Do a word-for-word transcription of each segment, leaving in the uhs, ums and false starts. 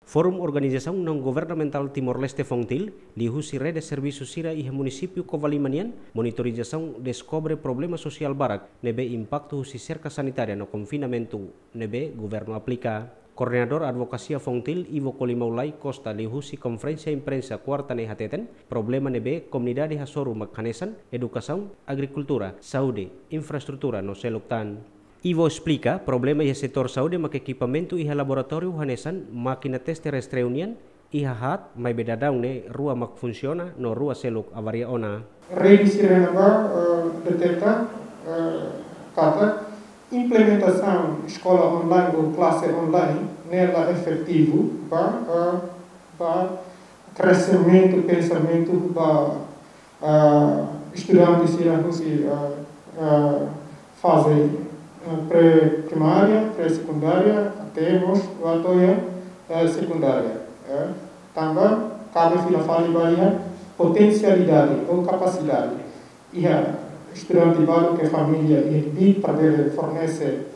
Forum Organizasaun Naun Governamentál Timor-Leste, FONGTIL, liuhusi rede servisu sira iha munisípiu Covalima nian, monitorizasaun deskobre problema sosiál barak ne'ebé impaktu husi serka sanitária no konfinamentu ne'ebé governu aplika. Koordenadór Advokasia FONGTIL, Ivo Kolimau Lai Costa, liuhusi konferénsia imprensa kuarta ne'e hateten, problema ne'ebé komunidade hasoru mak hanesan edukasaun, agrikultura, saúde, infraestrutura no seluk tan. Ivo esplika, problema iha setór saúde mak ekipamentu iha laboratóriu hanesan mákina teste rastreu nian iha haat, maibé daudaun ne'e rua mak funsiona no rua seluk avaria ona. Rede sira ne'ebá, eh, deteta, eh, katak implementasaun eskola online ou klase online ne'e la efetivu ba, eh, ba kreximentu, pensamentu ba, ah, estudante sira husi, ah, ah, faze, ah, pré-primária, pré-sekundária, até mós ba to'o iha, ah, sekundária. Eh, tanba kabe fila fali ba iha potensialidade ou kapasidade iha estudante balu ke família iha kbiit para bele fornese,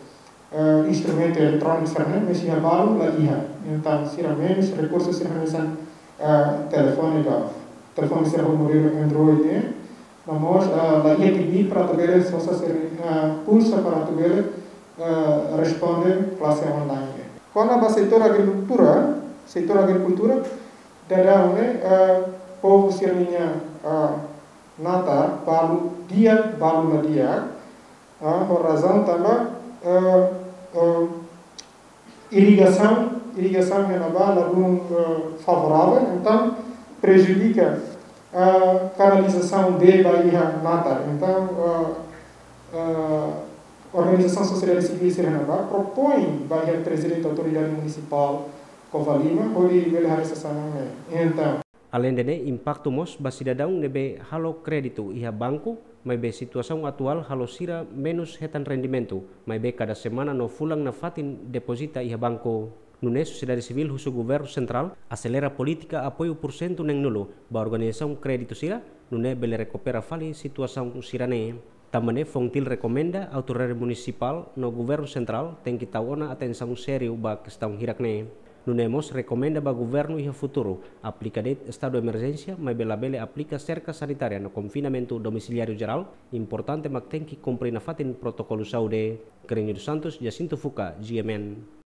eh, instrumentu eletróniku sira-ne'e, mas iha balu la iha. Entaun, sira menus, rekursu sira hanesan, eh, telefone ba, telefone sira ho modelu Android, eh, no mós, eh, la iha kbiit para atu bele sosa sira, eh, pulsa para atu bele, eh, responde klase online. Kona-ba setór agrikultura, setór agrikultura, daudaun ne'e, eh, povu sira-ninia, eh, natar balu di'ak, balu la di'ak, ah, ho razaun tanba, eh, eh, irrigasaun, irrigasaun iha ne'ebá ladún, eh, favorável, entaun prejudika, eh, kanalizasaun de ba iha natar. Entaun, eh, eh, organizasaun sosiedade sivíl sira iha ne'ebá propoin ba iha prezidente autoridade munisipál Covalima hodi bele haree sasán ne'e. Entaun, aleinde ne'e, impaktu mós ba sidadaun ne'ebé halo kréditu iha banku, maibé situasaun atuál halo sira menus hetan rendimentu, maibé kada semana no fulan nafatin depozita iha banku. Nune'e sosiedade sivíl husu governu sentrál aselera polítika apoiu pursentu neen-nulu ba organizasaun kréditu sira, nune'e bele rekupera fali situasaun sira-ne'e. Tanba ne'e, FONGTIL rekomenda autoridade munisipál no governu sentrál tenke tau ona atensaun sériu ba kestaun hirak-ne'e. Nune'e mós rekomenda ba governu iha futuru aplika de'it estadu emerjénsia, maibé labele aplika serka sanitária no konfinamentu domisiliáriu jerál, importante mak tenke kumpre nafatin protokolu saúde. Kerenio dos Santos, Jacinto Fuca, G M N.